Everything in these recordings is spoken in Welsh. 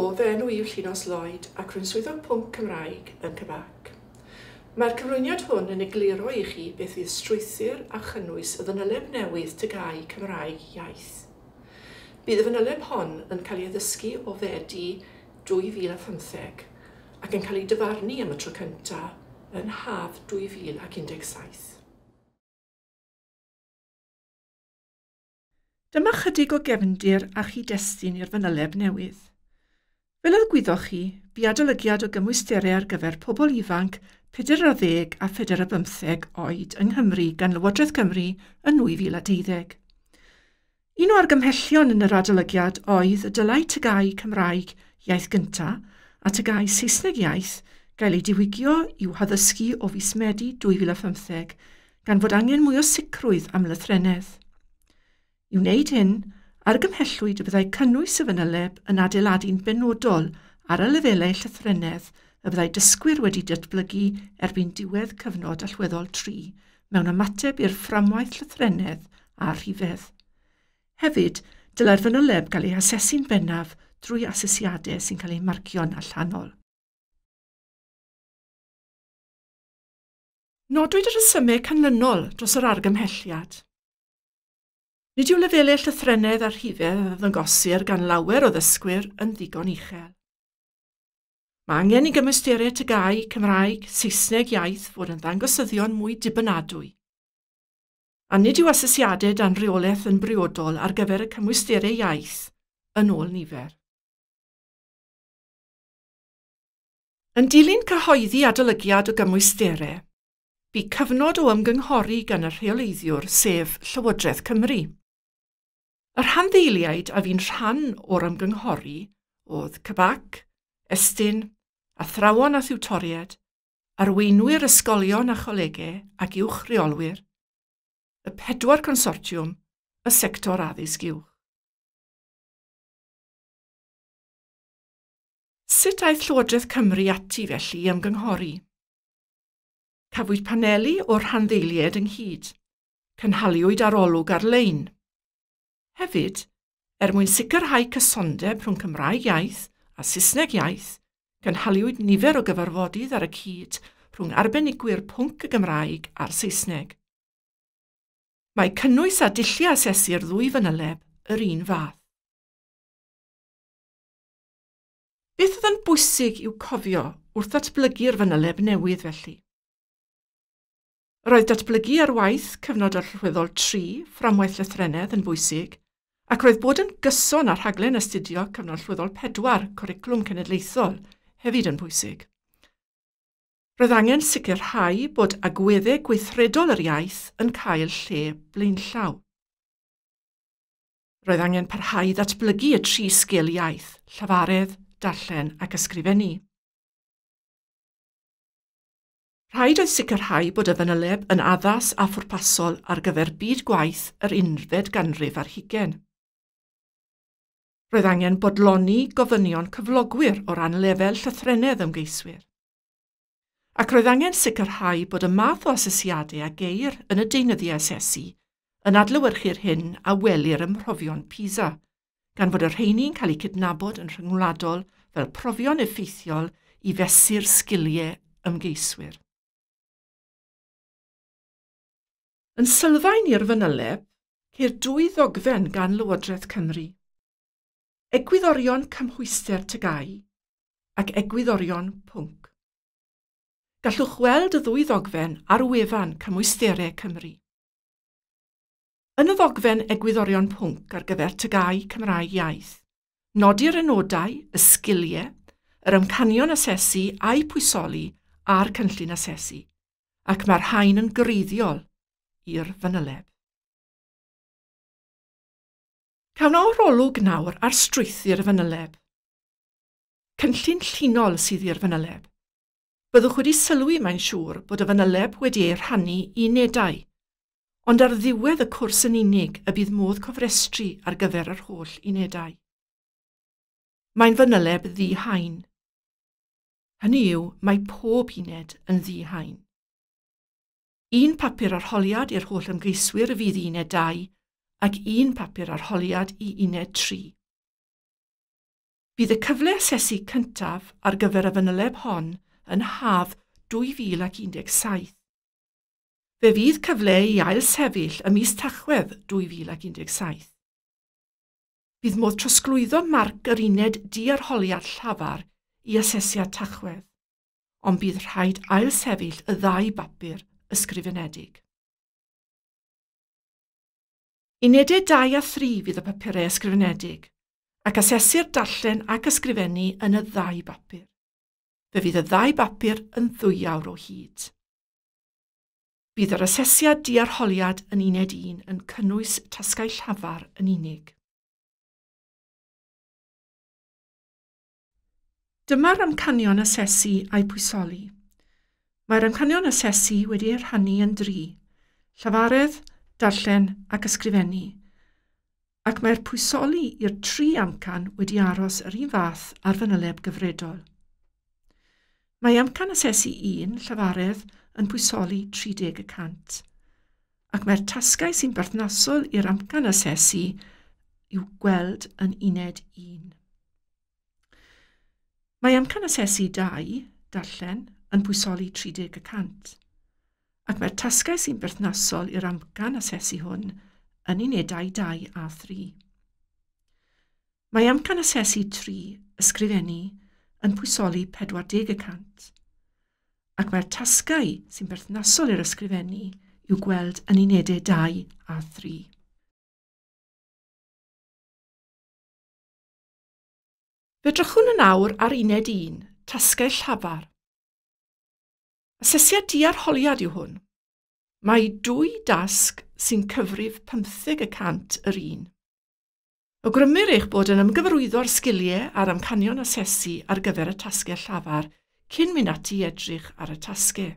Helo, fy enw i yw Llinos Lloyd ac rwy'n swyddog pwnc Cymraeg yn CBAC. Mae'r cyflwyniad hwn yn egluro i chi beth fydd strwythur a chynnwys y fanyleb newydd TGAU Cymraeg Iaith. Bydd y fanyleb hon yn cael ei addysgu o Fedi 2015 ac yn cael ei dyfarnu am y tro cyntaf yn haf 2017. Dyma chydig o gefndir a chyd-destun i'r fanyleb newydd. Fel y gwyddoch chi, bu adolygiad o gymwysterau ar gyfer pobl ifanc 40 a 45 oed yng Nghymru gan Lywodraeth Cymru yn 2012. Un o argymhellion yn yr adolygiad oedd y dylai TGAU Cymraeg iaith gyntaf a TGAU Saesneg iaith gael ei diwygio i'w haddysgu o fis Medi 2015 gan fod angen mwy o sicrwydd am lythrennedd. I wneud hyn, argymhellwyd y byddai cynnwys y fanyleb yn adeiladu'n benodol ar y lefelau llythrennedd y byddai dysgwyr wedi datblygu erbyn diwedd cyfnod allweddol 3 mewn ymateb i'r fframwaith llythrennedd a rhifedd. Hefyd, dylai'r fanyleb gael ei hasesu'n bennaf drwy asesiadau sy'n cael eu marcio'n allanol. Nodwyd y rhesymau canlynol dros yr argymhelliad. Nid yw lefelau llythrennedd a rhifedd a ddangosir gan lawer o ddysgwyr yn ddigon uchel. Mae angen i gymwysterau TGAU, Cymraeg, Saesneg iaith fod yn ddangosyddion mwy dibynadwy. A nid yw asesiadau dan reolaeth yn briodol ar gyfer y cymwysterau iaith yn ôl nifer. Yn dilyn cyhoeddi adolygiad o gymwysterau, bu cyfnod o ymgynghori gan y rheoleiddiwr, sef Llywodraeth Cymru. Y rhanddeiliaid a fu'n rhan o'r ymgynghori oedd CBAC, Estyn, athrawon a thiwtoriaid, arweinwyr ysgolion a cholegau ac uwch reolwyr, y pedwar consortiwm, y sector addysg uwch. Sut aeth Llywodraeth Cymru ati felly i ymgynghori? Cafwyd paneli o'r rhanddeiliaid ynghyd. Cynhaliwyd arolwg ar-lein. Hefyd, er mwyn sicrhau cysondeb rhwng Cymraeg iaith a Saesneg iaith, cynhaliwyd nifer o gyfarfodydd ar y cyd rhwng arbenigwyr pwnc y Gymraeg a'r Saesneg. Mae cynnwys a dulliau asesu'r ddwy fanyleb yr un fath. Beth oedd yn bwysig i'w cofio wrth ddatblygu'r fanyleb newydd felly? Roedd datblygu ar waith cyfnod allweddol 3, fframwaith llythrennedd, yn bwysig, ac roedd bod yn gyson â rhaglen astudio cyfnod allweddol 4, cwricwlwm cenedlaethol, hefyd yn bwysig. Roedd angen sicrhau bod agweddau gweithredol yr iaith yn cael lle blaenllaw. Roedd angen parhau i ddatblygu y tri sgil iaith, llafaredd, darllen ac ysgrifennu. Rhaid oedd sicrhau bod y fanyleb yn addas a phwrpasol ar gyfer byd gwaith yr unfed ganrif ar hugain. Roedd angen bodloni gofynion cyflogwyr o ran lefel llythrennedd ymgeiswyr. Ac roedd angen sicrhau bod y math o asesiadau a geir yn y deunyddiau asesu yn adlewyrchu'r hyn a welir ym mhrofion PISA, gan fod y rheini'n cael eu cydnabod yn rhyngwladol fel profion effeithiol i fesur sgiliau ymgeiswyr. Yn sylfaen i'r fanyleb, ceir dwy ddogfen gan Lywodraeth Cymru. Egwyddorion cymhwyster TGAU ac egwyddorion pwnc. Gallwch weld y ddwy ddogfen ar wefan Cymwysterau Cymru. Yn y ddogfen egwyddorion pwnc ar gyfer TGAU Cymraeg iaith, nodir y nodau, y sgiliau, yr amcanion asesu a'u pwysoli a'r cynllun asesu, ac mae'r rhain yn greiddiol i'r fanyleb. Cawn arolwg nawr ar strwythur y fanyleb. Cynllun llinol sydd i'r fanyleb. Byddwch wedi sylwi, mae'n siŵr, bod y fanyleb wedi ei rhannu i unedau, ond ar ddiwedd y cwrs yn unig y bydd modd cofrestru ar gyfer yr holl unedau. Mae'n fanyleb ddi-haen. Hynny yw, mae pob uned yn ddi-haen. Un papur arholiad i'r holl ymgeiswyr fydd i uned 2 ac un papur arholiad i uned 3. Bydd y cyfle asesu cyntaf ar gyfer y fanyleb hon yn haf 2017. Fe fydd cyfle i ailsefyll ym mis Tachwedd 2017. Bydd modd trosglwyddo marc yr uned diarholiad llafar i asesiad Tachwedd, ond bydd rhaid ailsefyll y ddau bapur ysgrifenedig. Unedau 2 a 3 fydd y papurau ysgrifenedig, ac asesir darllen ac ysgrifennu yn y ddau bapur. Fe fydd y ddau bapur yn 2 awr o hyd. Bydd yr asesiad diarholiad yn uned 1 yn cynnwys tasgau llafar yn unig. Dyma'r amcanion asesu a'i pwysoli. Mae'r amcanion asesu wedi eu rhannu yn 3: llafaredd, darllen ac ysgrifennu, ac mae'r pwysoli i'r 3 amcan wedi aros yr un fath ar fanyleb gyfredol. Mae amcan asesu 1, llafaredd, yn pwysoli 30%, ac mae'r tasgau sy'n berthnasol i'r amcan asesu i'w gweld yn uned 1. Mae amcan asesu 2, darllen, yn pwysoli 30%, ac mae'r tasgau sy'n berthnasol i'r amcan asesu hwn yn unedau 2 a 3. Mae amcan asesu 3, ysgrifennu, yn pwysoli 40%, ac mae'r tasgau sy'n berthnasol i'r ysgrifennu i'w gweld yn unedau 2 a 3. Fe drychwn yn awr ar uned 1, tasgau llafar. Asesiad diarholiad yw hwn. Mae 2 dasg sy'n cyfrif 15% yr un. Awgrymir eich bod yn ymgyfarwyddo'r sgiliau a'r amcanion asesu ar gyfer y tasgau llafar cyn mynd ati i edrych ar y tasgau.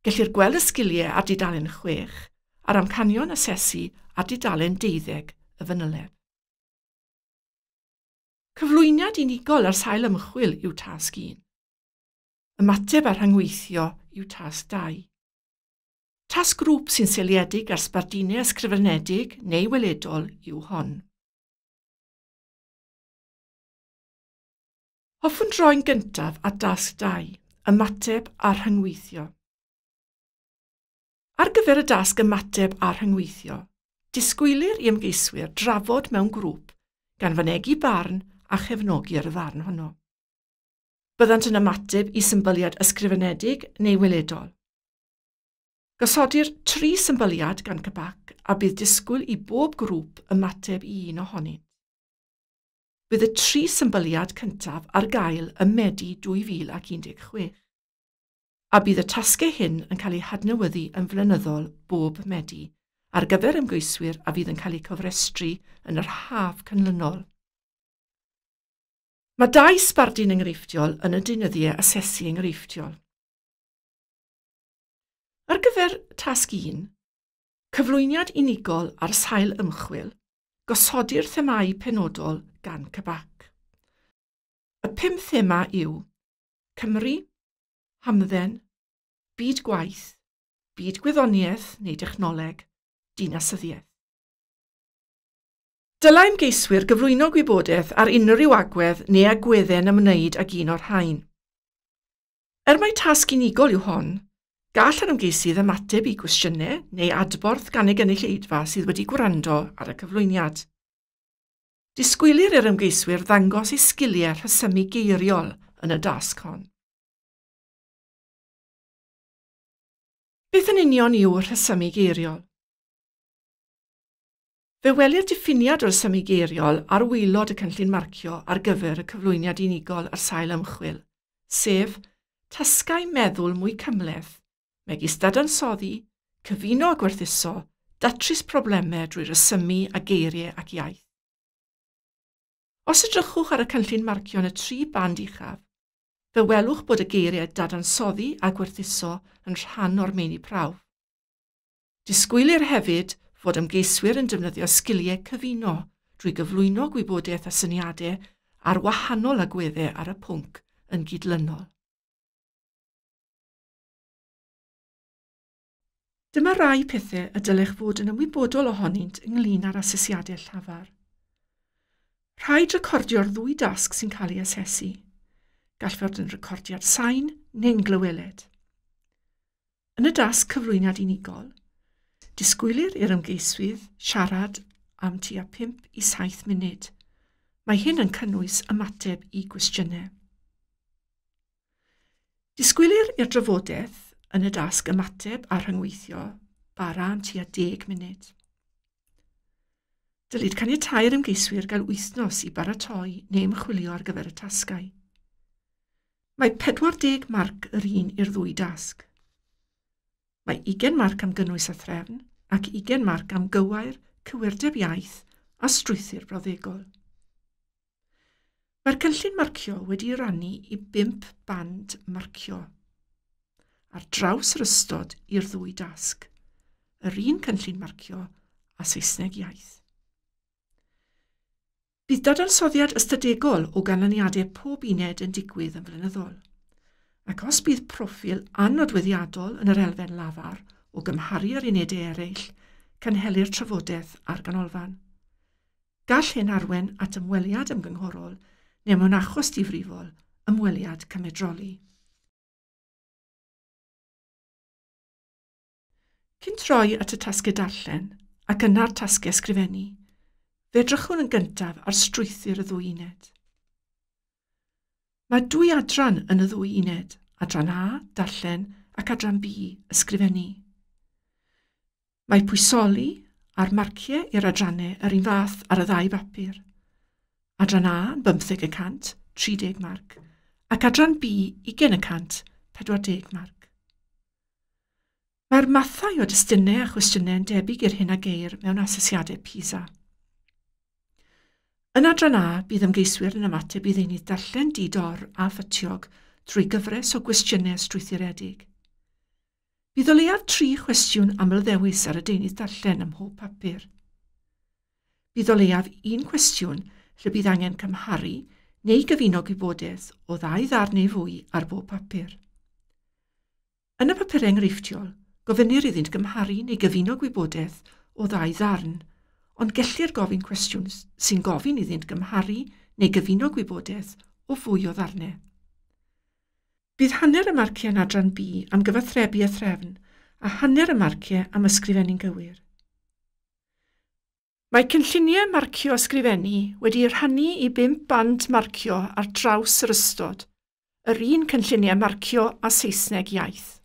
Gellir gweld y sgiliau ar dudalen 6 a'r amcanion asesu ar dudalen 12 y fanyleb. Cyflwyniad unigol ar sail ymchwil yw tasg 1. Ymateb a rhyngweithio yw tasg 2. Tasg grŵp sy'n seiliedig ar sbardunau ysgrifenedig neu weledol yw hon. Hoffwn droi'n gyntaf at dasg 2, ymateb a rhyngweithio. Ar gyfer y dasg ymateb a rhyngweithio, disgwylir i ymgeiswyr drafod mewn grŵp gan fynegi barn a chefnogi'r farn honno. Byddant yn ymateb i symbyliad ysgrifenedig neu weledol. Gosodir 3 symbyliad gan CBAC a bydd disgwyl i bob grŵp ymateb i un ohonynt. Bydd y 3 symbyliad cyntaf ar gael ym Medi 2016, a bydd y tasgau hyn yn cael eu hadnewyddu yn flynyddol bob Medi ar gyfer ymgeiswyr a fydd yn cael eu cofrestru yn yr haf canlynol. Mae 2 sbardun enghreifftiol yn y deunyddiau asesu enghreifftiol. Ar gyfer tasg 1, cyflwyniad unigol ar sail ymchwil, gosodir themâu penodol gan CBAC. Y 5 thema yw Cymru, hamdden, byd gwaith, byd gwyddoniaeth neu dechnoleg, dinasyddiaeth. Dylai ymgeiswyr gyflwyno gwybodaeth ar unrhyw agwedd neu agweddau'n ymwneud ag un o'r rhain. Er mai tasg unigol yw hon, gall yr ymgeisydd ymateb i gwestiynau neu adborth gan ei gynulleidfa sydd wedi gwrando ar y cyflwyniad. Disgwylir i'r ymgeiswyr ddangos eu sgiliau rhesymu geiriol yn y dasg hon. Beth yn union yw rhesymu geiriol? Fe welir diffiniad o'r rhesymu geiriol ar waelod y cynllun marcio ar gyfer y cyflwyniad unigol ar sail ymchwil, sef tasgau meddwl mwy cymhleth, megis dadansoddi, cyfuno a gwerthuso, datrys problemau drwy rhesymu a geiriau ac iaith. Os edrychwch ar y cynllun marcio yn y 3 band uchaf, fe welwch bod y geiriau dadansoddi a gwerthuso yn rhan o'r meini prawf. Disgwylir hefyd fod ymgeiswyr yn defnyddio sgiliau cyfuno drwy gyflwyno gwybodaeth a syniadau ar wahanol agweddau ar y pwnc yn gydlynol. Dyma rai pethau y dylech fod yn ymwybodol ohonynt ynglyn â'r asesiadau llafar. Rhaid recordio'r ddwy dasg sy'n cael ei asesu. Gall fod yn recordiad sain neu'n glyweled. Yn y dasg cyflwyniad unigol, disgwylir i'r ymgeiswydd siarad am tua 5 i 7 munud. Mae hyn yn cynnwys ymateb i gwestiynau. Disgwylir i'r drafodaeth yn y dasg ymateb a rhyngweithio bara am tua 10 munud. Dylid caniatáu'r ymgeiswyr gael wythnos i baratoi neu ymchwilio ar gyfer y tasgau. Mae 40 marc yr un i'r ddwy dasg. Mae 20 marc am gynnwys a threfn ac 20 marc am gywair, cywirdeb iaith a strwythur brawddegol. Mae'r cynllun marcio wedi'i rannu i 5 band marcio ar draws yr ystod i'r ddwy dasg, yr un cynllun marcio a Saesneg iaith. Bydd dadansoddiad ystadegol o ganlyniadau pob uned yn digwydd yn flynyddol. Ac os bydd proffil annodweddiadol yn yr elfen lafar o gymharu â'r unedau eraill, cynhelir trafodaeth ar ganolfan. Gall hyn arwain at ymweliad ymgynghorol neu mewn achos difrifol, ymweliad cymedroli. Cyn troi at y tasgau darllen ac yna'r tasgau ysgrifennu, fe edrychwn yn gyntaf ar strwythur y ddwy uned. Mae dwy adran yn y ddwy uned, adran A, darllen, ac adran B, ysgrifennu. Mae pwysoli a'r marciau i'r adrannau yr un fath ar y ddau bapur. Adran A yn 50%, 30 marc, ac adran B 20%, 40 marc. Mae'r mathau o destunau a chwestiynau yn debyg i'r hyn a geir mewn asesiadau PISA. Yn adran A, bydd ymgeiswyr yn ymateb i ddeunydd darllen di-dor a phytiog trwy gyfres o gwestiynau strwythuredig. Bydd o leiaf 3 chwestiwn amlddewis ar y deunydd darllen ym mhob papur. Bydd o leiaf 1 cwestiwn lle bydd angen cymharu neu gyfuno gwybodaeth o ddau ddarn neu fwy ar bob papur. Yn y papurau enghreifftiol, gofynnir iddynt gymharu neu gyfuno gwybodaeth o ddau ddarn, ond gellir gofyn cwestiwn sy'n gofyn iddynt gymharu neu gyfuno gwybodaeth o fwy o ddarnau. Bydd hanner y marciau yn adran B am gyfathrebu a threfn a hanner y marciau am ysgrifennu'n gywir. Mae cynlluniau marcio ysgrifennu wedi'u rhannu i 5 band marcio ar draws yr ystod, yr un cynlluniau marcio a Saesneg iaith.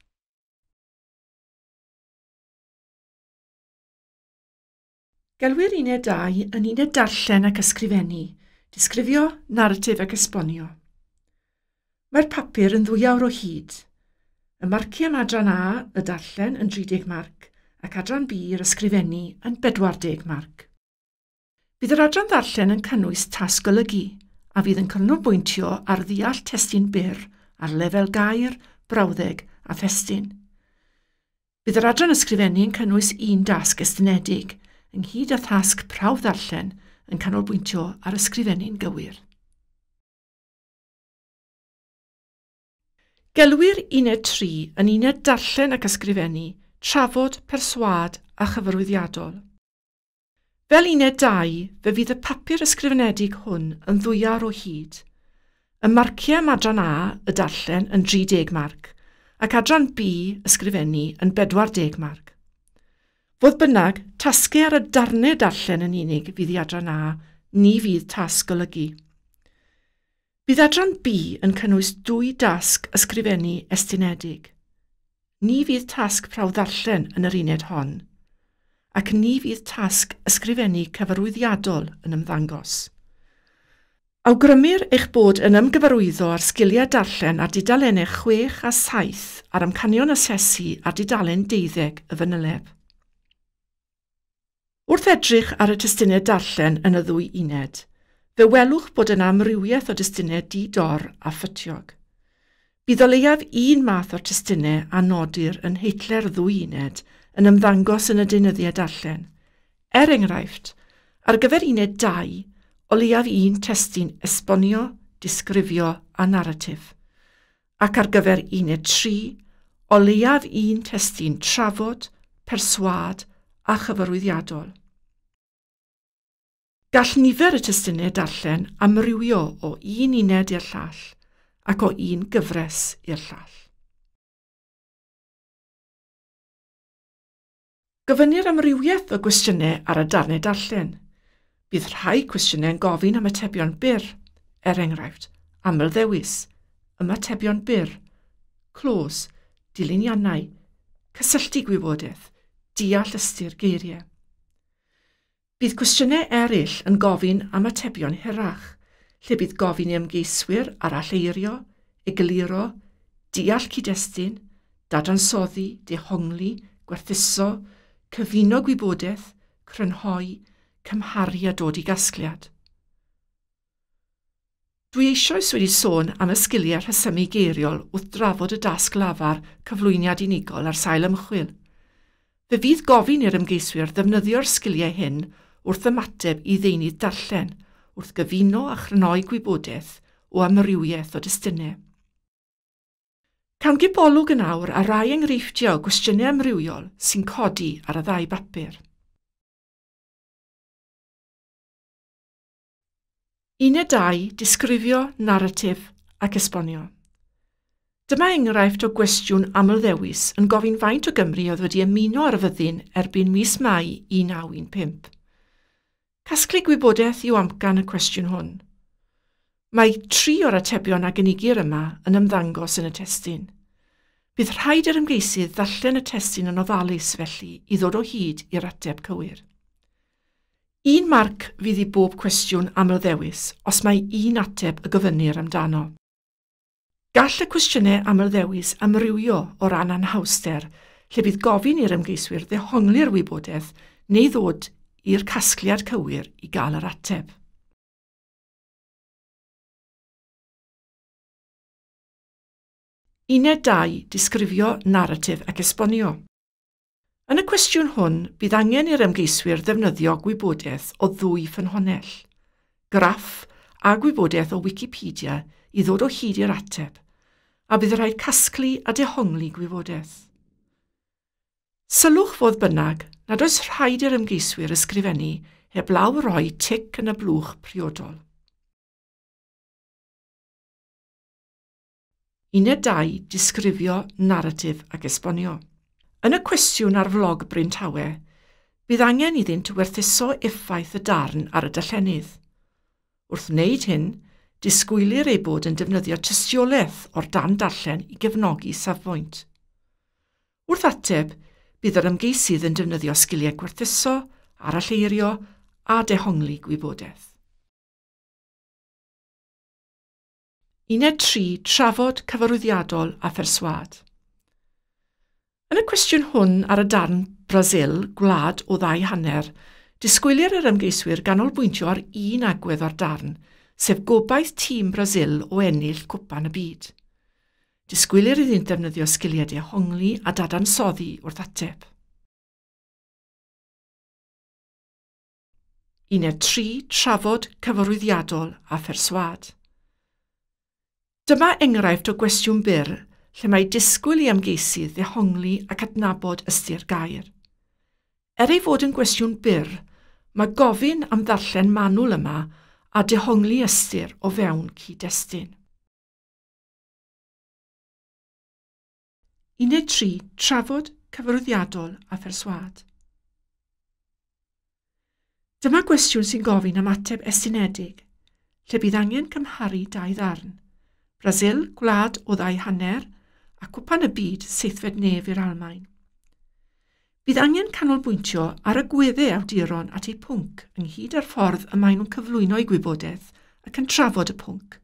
Gelwir uned 2 yn uned darllen ac ysgrifennu, disgrifio, naratif ac esbonio. Mae'r papur yn 2 awr o hyd. Y marciau am adran A, y darllen, yn 30 marc, ac adran B, yr ysgrifennu, yn 40 marc. Bydd yr adran ddarllen yn cynnwys tasg golygu, a fydd yn canolbwyntio ar ddeall testun byr ar lefel gair, brawddeg a thestun. Bydd yr adran ysgrifennu yn cynnwys un dasg estynedig, ynghyd â thasg prawf ddarllen yn canolbwyntio ar ysgrifennu'n gywir. Gelwir uned 3 yn uned darllen ac ysgrifennu, trafod, perswâd a chyfarwyddiadol. Fel uned 2, fe fydd y papur ysgrifenedig hwn yn 2 awr o hyd. Y marciau am adran A, y darllen, yn 30 marc, ac adran B, ysgrifennu, yn 40 marc. Fodd bynnag, tasgau ar y darnau darllen yn unig fydd i adran A, ni fydd tasg golygu. Bydd adran B yn cynnwys 2 dasg ysgrifennu estynedig. Ni fydd tasg prawf ddarllen yn yr uned hon, ac ni fydd tasg ysgrifennu cyfarwyddiadol yn ymddangos. Awgrymir eich bod yn ymgyfarwyddo ar sgiliau darllen ar dudalennau 6 a 7 a'r amcanion asesu ar dudalen 12 y fanyleb. Wrth edrych ar y testunau darllen yn y ddwy uned, fe welwch bod yna amrywiaeth o destunau di-dor a phytiog. Bydd o leiaf un math o'r testunau a nodir yn heitle'r ddwy uned yn ymddangos yn y deunyddiau darllen. Er enghraifft, ar gyfer uned 2, o leiaf un testun esbonio, disgrifio a naratif, ac ar gyfer uned 3, o leiaf un testun trafod, perswâd a chyfarwyddiadol. Gall nifer y testunau darllen amrywio o un uned i'r llall ac o un gyfres i'r llall. Gofynnir amrywiaeth o gwestiynau ar y darnau darllen. Bydd rhai cwestiynau yn gofyn am atebion byr, er enghraifft, aml-ddewis, ymatebion byr, clos, dilyniannau, cysylltu gwybodaeth, deall ystyr geiriau. Bydd cwestiynau eraill yn gofyn am atebion hirach, lle bydd gofyn i ymgeiswyr aralleirio, egluro, deall cyd-destun, dadansoddi, dehongli, gwerthuso, cyfuno gwybodaeth, crynhoi, cymharu a dod i gasgliad. Dwi eisoes wedi sôn am y sgiliau rhesymu geiriol wrth drafod y dasg lafar cyflwyniad unigol ar sail ymchwil. Fe fydd gofyn i'r ymgeiswyr ddefnyddio'r sgiliau hyn wrth ymateb i ddeunydd darllen, wrth gyfuno a chrynhoi gwybodaeth o amrywiaeth o destunau. Cawn gipolwg yn awr ar rai enghreifftiau o gwestiynau amrywiol sy'n codi ar y ddau bapur. Uned 2, disgrifio, naratif ac esbonio. Dyma enghraifft o gwestiwn aml-ddewis yn gofyn faint o Gymru oedd wedi ymuno ar y fyddin erbyn mis Mai 1915. Casglu gwybodaeth yw amcan y cwestiwn hwn. Mae 3 o'r atebion a gynigir yma yn ymddangos yn y testun. Bydd rhaid i'r ymgeisydd ddarllen y testun yn ofalus felly i ddod o hyd i'r ateb cywir. Un marc fydd i bob cwestiwn aml-ddewis os mae un ateb y gofynnir amdano. Gall y cwestiynau aml-ddewis amrywio o ran anhawster, lle bydd gofyn i'r ymgeiswyr ddehongli'r wybodaeth neu ddod i'r casgliad cywir i gael yr ateb. Uned 2, disgrifio, naratif ac esbonio. Yn y cwestiwn hwn, bydd angen i'r ymgeiswyr ddefnyddio gwybodaeth o ddwy ffynhonnell, graff a gwybodaeth o Wikipedia i ddod o hyd i'r ateb, a bydd rhaid casglu a dehongli gwybodaeth. Sylwch fodd bynnag nad oes rhaid i'r ymgeiswyr ysgrifennu heblaw roi tic yn y blwch priodol. Uned 2, disgrifio, naratif ac esbonio. Yn y cwestiwn ar flog Bryn Tawe, bydd angen iddynt werthuso effaith y darn ar y darllenydd. Wrth wneud hyn, disgwylir eu bod yn defnyddio tystiolaeth o'r darn darllen i gefnogi safbwynt. Wrth ateb, bydd yr ymgeisydd yn defnyddio sgiliau gwerthuso, aralleirio a dehongli gwybodaeth. Uned 3, trafod cyfarwyddiadol a pherswâd. Yn y cwestiwn hwn ar y darn Brasil, gwlad o ddau hanner, disgwylir yr ymgeiswyr ganolbwyntio ar un agwedd o'r darn, sef gobaith tîm Brasil o ennill cwpan y byd. Disgwylir iddynt ddefnyddio sgiliau dehongli a dadansoddi wrth ateb. Uned 3, trafod cyfarwyddiadol a pherswâd. Dyma enghraifft o gwestiwn byr lle mae disgwyl i ymgeisydd ddehongli ac adnabod ystyr gair. Er ei fod yn gwestiwn byr, mae gofyn am ddarllen manwl yma a dehongli ystyr o fewn cyd-destun. Uned 3, trafod cyfarwyddiadol a pherswâd. Dyma gwestiwn sy'n gofyn am ateb estynedig, lle bydd angen cymharu dau ddarn. Brasil, gwlad o ddau hanner, a cwpan y byd seithfed nef i'r Almaen. Bydd angen canolbwyntio ar y gweddau awduron at eu pwnc ynghyd â'r ffordd y maen nhw'n cyflwyno eu gwybodaeth ac yn trafod y pwnc.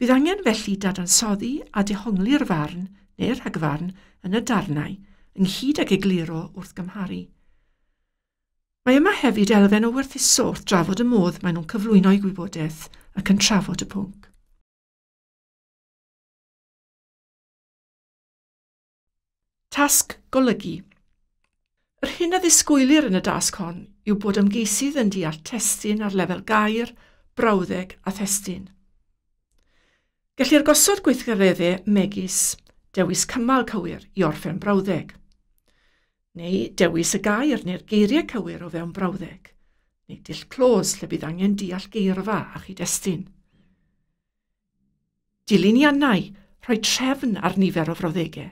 Bydd angen felly dadansoddi a dehongli'r farn neu'r rhagfarn yn y darnau ynghyd ag egluro wrth gymharu. Mae yma hefyd elfen o werthuso wrth drafod y modd maen nhw'n cyflwyno eu gwybodaeth ac yn trafod y pwnc. Tasg golygu. Yr hyn a ddisgwylir yn y dasg hon yw bod ymgeisydd yn deall testun ar lefel gair, brawddeg a thestun. Gellir gosod gweithgareddau megis dewis cymal cywir i orffen brawddeg, neu dewis y gair neu'r geiriau cywir o fewn brawddeg, neu dull clos lle bydd angen deall geirfa a chyd-destun. Dilyniannau, rhoi trefn ar nifer o frawddegau.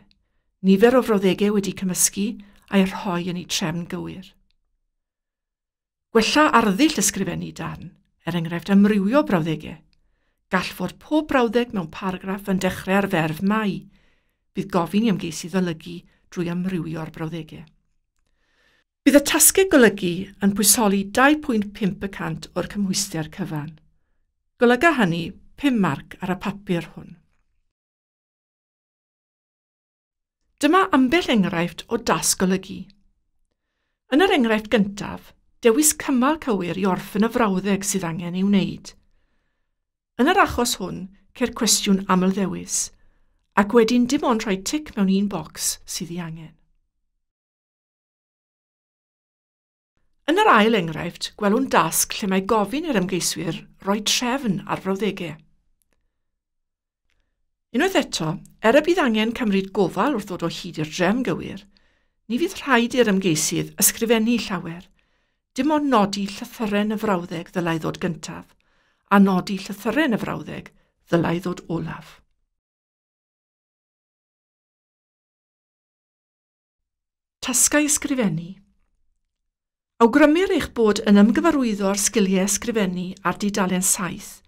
Nifer o frawddegau wedi cymysgu a'i rhoi yn eu trefn gywir. Gwella arddull ysgrifennu darn, er enghraifft amrywio brawddegau. Gall fod pob brawddeg mewn paragraff yn dechrau ar ferf mai. Bydd gofyn i ymgeisydd olygu drwy amrywio'r brawddegau. Bydd y tasgau golygu yn pwysoli 2.5% o'r cymhwyster cyfan. Golyga hynny 5 marc ar y papur hwn. Dyma ambell enghraifft o dasg golygu. Yn yr enghraifft gyntaf, dewis cymal cywir i orffen y frawddeg sydd angen ei wneud. Yn yr achos hwn, ceir cwestiwn amlddewis, ac wedyn dim ond rhoi tic mewn un bocs sydd ei angen. Yn yr ail enghraifft, gwelwn dasg lle mae gofyn i'r ymgeiswyr roi trefn ar frawddegau. Unwaith eto, er y bydd angen cymryd gofal wrth ddod o hyd i'r drefn gywir, ni fydd rhaid i'r ymgeisydd ysgrifennu llawer, dim ond nodi llythyren y frawddeg ddylai ddod gyntaf, a nodi llythyren y frawddeg ddylai ddod olaf. Tasgau ysgrifennu. Awgrymir eich bod yn ymgyfarwyddo â'r sgiliau ysgrifennu ar dudalen 7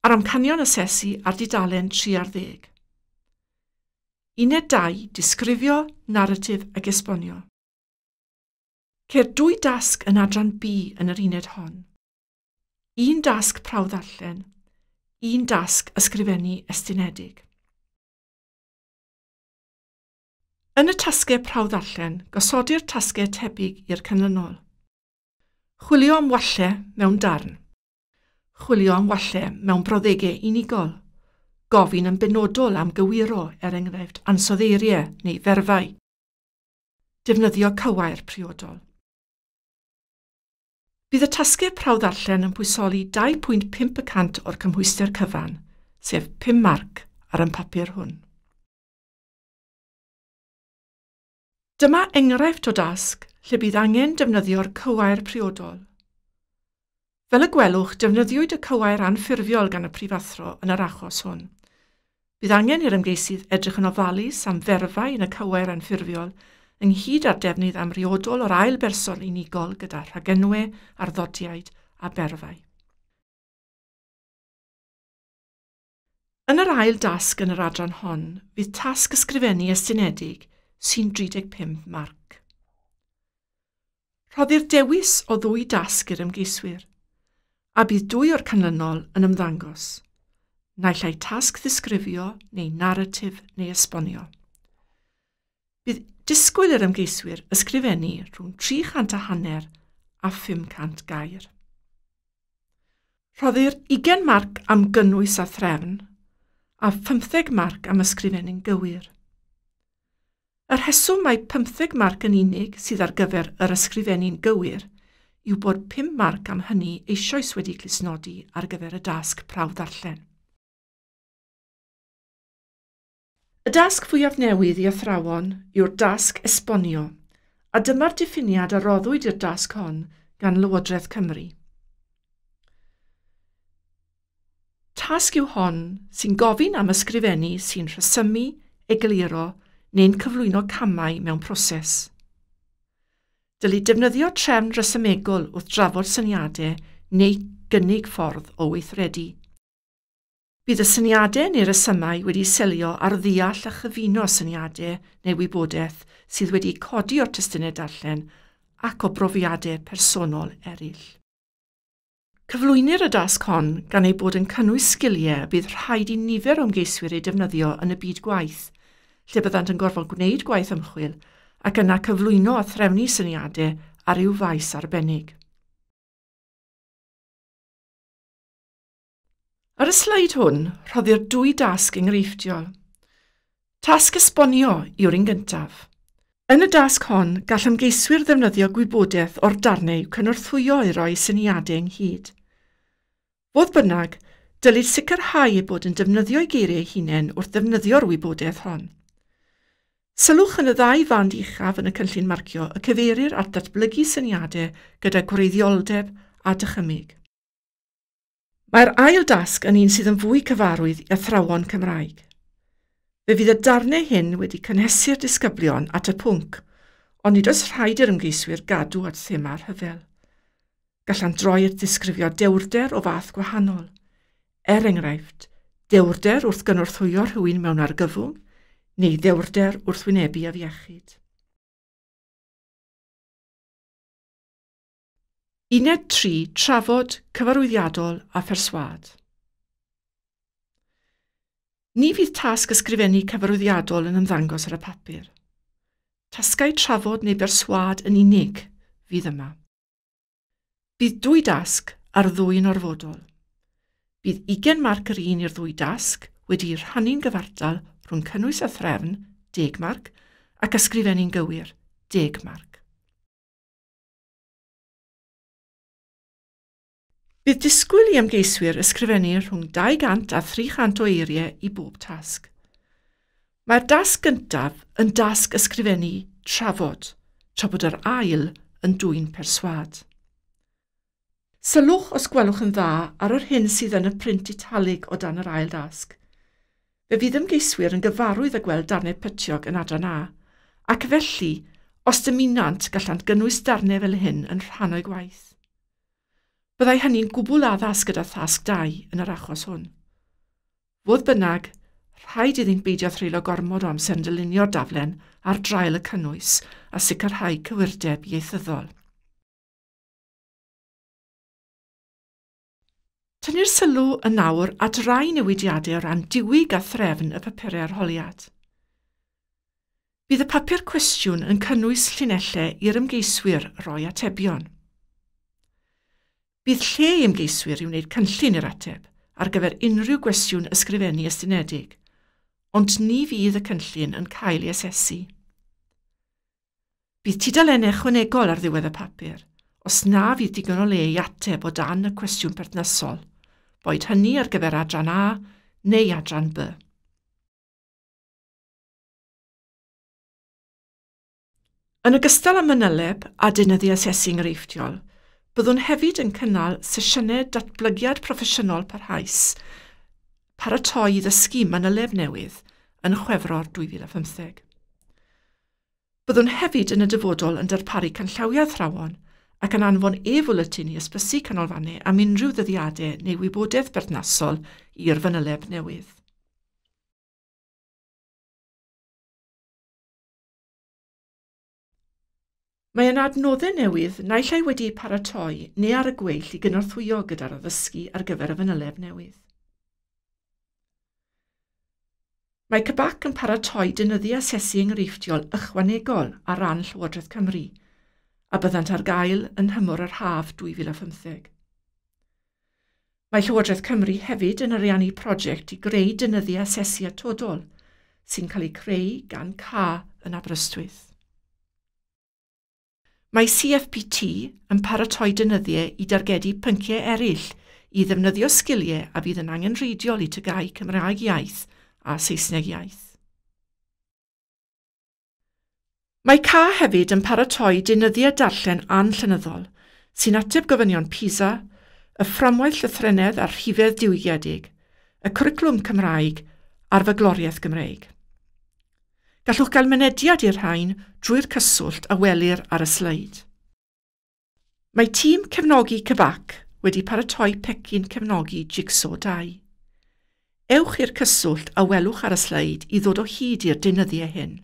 a'r amcanion asesu ar dudalen 13. Uned 2, disgrifio, naratif ac esbonio. Ceir dwy dasg yn adran B yn yr uned hon. Un dasg prawf ddarllen, un dasg ysgrifennu estynedig. Yn y tasgau prawf ddarllen, gosodir tasgau tebyg i'r canlynol. Chwilio am wallau mewn darn. Chwilio am wallau mewn brawddegau unigol. Gofyn yn benodol am gywiro, er enghraifft ansoddeiriau neu ferfau. Defnyddio cywair priodol. Bydd y tasgau prawf ddarllen yn pwysoli 2.5% o'r cymhwyster cyfan, sef 5 marc ar y papur hwn. Dyma enghraifft o dasg lle bydd angen defnyddio'r cywair priodol. Fel y gwelwch, defnyddiwyd y cywair anffurfiol gan y prifathro yn yr achos hwn. Bydd angen i'r ymgeisydd edrych yn ofalus am ferfau yn y cywair anffurfiol, ynghyd â'r defnydd amriodol o'r ail berson unigol gyda rhagenwau, arddodiaid a berfau. Yn yr ail dasg yn yr adran hon, fydd tasg ysgrifennu estynedig sy'n 35 marc. Rhoddir dewis o ddwy dasg i'r ymgeiswyr, a bydd dwy o'r canlynol yn ymddangos, naill ai tasg ddisgrifio neu naratif neu esbonio. Bydd disgwyl i'r ymgeiswyr ysgrifennu rhwng 350 a 500 gair. Rhoddir 20 marc am gynnwys a threfn, a 15 marc am ysgrifennu'n gywir. Y rheswm mae 15 marc yn unig sydd ar gyfer yr ysgrifennu'n gywir yw bod 5 marc am hynny eisoes wedi clustnodi ar gyfer y dasg prawf ddarllen. Y dasg fwyaf newydd i athrawon yw'r dasg esbonio, a dyma'r diffiniad a roddwyd i'r dasg hon gan Lywodraeth Cymru. Tasg yw hon sy'n gofyn am ysgrifennu sy'n rhesymu, egluro neu'n cyflwyno camau mewn proses. Dylid defnyddio trefn resymegol wrth drafod syniadau neu gynnig ffordd o weithredu. Bydd y syniadau neu resymau wedi selio ar ddeall a chyfuno syniadau neu wybodaeth sydd wedi codi o'r testunau darllen ac o brofiadau personol eraill. Cyflwynir y dasg hon gan ei bod yn cynnwys sgiliau y bydd rhaid i nifer o ymgeiswyr eu defnyddio yn y byd gwaith, lle byddant yn gorfod gwneud gwaith ymchwil ac yna cyflwyno a threfnu syniadau ar ryw faes arbennig. Ar y sleid hwn, rhoddir dwy dasg enghreifftiol. Tasg esbonio yw'r un gyntaf. Yn y dasg hon, gall ymgeiswyr ddefnyddio gwybodaeth o'r darnau i'w cynorthwyo i roi syniadau ynghyd. Fodd bynnag, dylid sicrhau eu bod yn defnyddio'u geiriau eu hunain wrth ddefnyddio'r wybodaeth hon. Sylwch yn y ddau fand uchaf yn y cynllun marcio y cyfeirir at ddatblygu syniadau gyda gwreiddioldeb a dychymyg. Mae'r ail dasg yn un sydd yn fwy cyfarwydd i athrawon Cymraeg. Fe fydd y darnau hyn wedi cynhesu'r disgyblion at y pwnc, ond nid oes rhaid i'r ymgeiswyr gadw at thema'r rhyfel. Gallant droi at ddisgrifio dewrder o fath gwahanol. Er enghraifft, dewrder wrth gynorthwyo rhywun mewn argyfwng, neu ddewrder wrth wynebu afiechyd. Uned 3. Trafod, cyfarwyddiadol a pherswâd. Ni fydd tasg ysgrifennu cyfarwyddiadol yn ymddangos ar y papur. Tasgau trafod neu berswâd yn unig fydd yma. Bydd dwy dasg a'r ddwy yn orfodol. Bydd 20 marc yr un i'r ddwy dasg wedi'u rhannu'n gyfartal rhwng cynnwys a threfn, 10 marc, ac ysgrifennu'n gywir, 10 marc. Bydd disgwyl i ymgeiswyr ysgrifennu rhwng 200 a 300 o eiriau i bob tasg. Mae'r dasg gyntaf yn dasg ysgrifennu trafod, tra bod yr ail yn dwyn perswâd. Sylwch os gwelwch yn dda ar yr hyn sydd yn y print italig o dan yr ail dasg. Fe fydd ymgeiswyr yn gyfarwydd â gweld darnau pytiog yn adran A, ac felly, os dymunant, gallant gynnwys darnau fel hyn yn rhan o'u gwaith. Byddai hynny'n gwbl addas gyda thasg 2 yn yr achos hwn. Fodd bynnag, rhaid iddynt beidio threulio gormod o amser yn dylunio'r daflen ar draul y cynnwys a sicrhau cywirdeb ieithyddol. Tynnu'r sylw yn nawr at rai newidiadau o ran diwyg a threfn y papurau arholiad. Bydd y papur cwestiwn yn cynnwys llinellau i'r ymgeiswyr roi atebion. Bydd lle i ymgeiswyr i wneud cynllun i'r ateb ar gyfer unrhyw gwestiwn ysgrifennu estynedig, ond ni fydd y cynllun yn cael ei asesu. Bydd tudalennau ychwanegol ar ddiwedd y papur, os na fydd digon o le i ateb o dan y cwestiwn perthnasol, boed hynny ar gyfer adran A neu adran B. Yn ogystal â manyleb a deunyddiau asesu enghreifftiol, byddwn hefyd yn cynnal sesiynau datblygiad proffesiynol parhaus, paratoi i ddysgu manyleb newydd yn Chwefror 2015. Byddwn hefyd yn y dyfodol yn darparu canllawiau athrawon ac yn anfon e-fwletin i ysbysu canolfannau am unrhyw ddyddiadau neu wybodaeth berthnasol i'r fanyleb newydd. Mae yna adnoddau newydd naill ai wedi'u paratoi neu ar y gweill i gynorthwyo gyda'r addysgu ar gyfer y fanyleb newydd. Mae CBAC yn paratoi deunyddiau asesu enghreifftiol ychwanegol ar ran Llywodraeth Cymru, a byddant ar gael yn nhymor yr haf 2015. Mae Llywodraeth Cymru hefyd yn ariannu prosiect i greu deunyddiau asesu atodol, sy'n cael eu creu gan CA yn Aberystwyth. Mae CFPT yn paratoi deunyddiau i dargedu pynciau eraill i ddefnyddio sgiliau a fydd yn angenrheidiol i TGAU Cymraeg iaith a Saesneg iaith. Mae CA hefyd yn paratoi deunyddiau darllen anllenyddol sy'n ateb gofynion PISA, y fframwaith llythrennedd a'r rhifedd diwygiedig, y cwricwlwm Cymraeg a'r fagloriaeth Gymreig. Gallwch gael mynediad i'r rhain drwy'r cyswllt a welir ar y sleid. Mae tîm cefnogi CBAC wedi paratoi pecyn cefnogi Jigsaw 2. Ewch i'r cyswllt a welwch ar y sleid i ddod o hyd i'r deunyddiau hyn.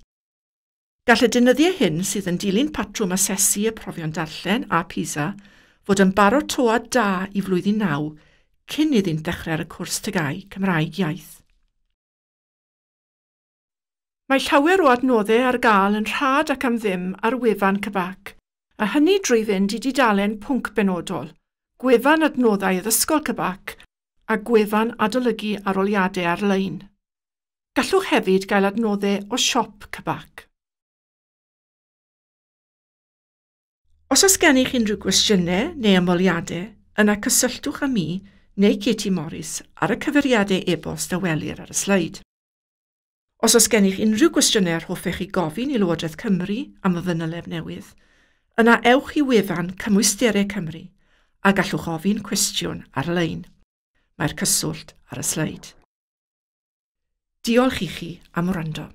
Gall y deunyddiau hyn sydd yn dilyn patrwm asesu y profion darllen a PISA fod yn baratoad da i flwyddyn 9 cyn iddynt ddechrau ar y cwrs TGAU Cymraeg Iaith. Mae llawer o adnoddau ar gael yn rhad ac am ddim ar wefan CBAC, a hynny drwy fynd i dudalen pwnc benodol, gwefan adnoddau addysgol CBAC a gwefan adolygu arholiadau ar-lein. Gallwch hefyd gael adnoddau o siop CBAC. Os oes gennych unrhyw gwestiynau neu ymholiadau, yna cysylltwch â mi neu Katie Morris ar y cyfeiriadau e-bost a welir ar y sleid. Os oes gennych unrhyw gwestiynau yr hoffech chi gofyn i Lywodraeth Cymru am y fanyleb newydd, yna ewch i wefan Cymwysterau Cymru a gallwch ofyn cwestiwn ar-lein. Mae'r cyswllt ar y sleid. Diolch i chi am wrando.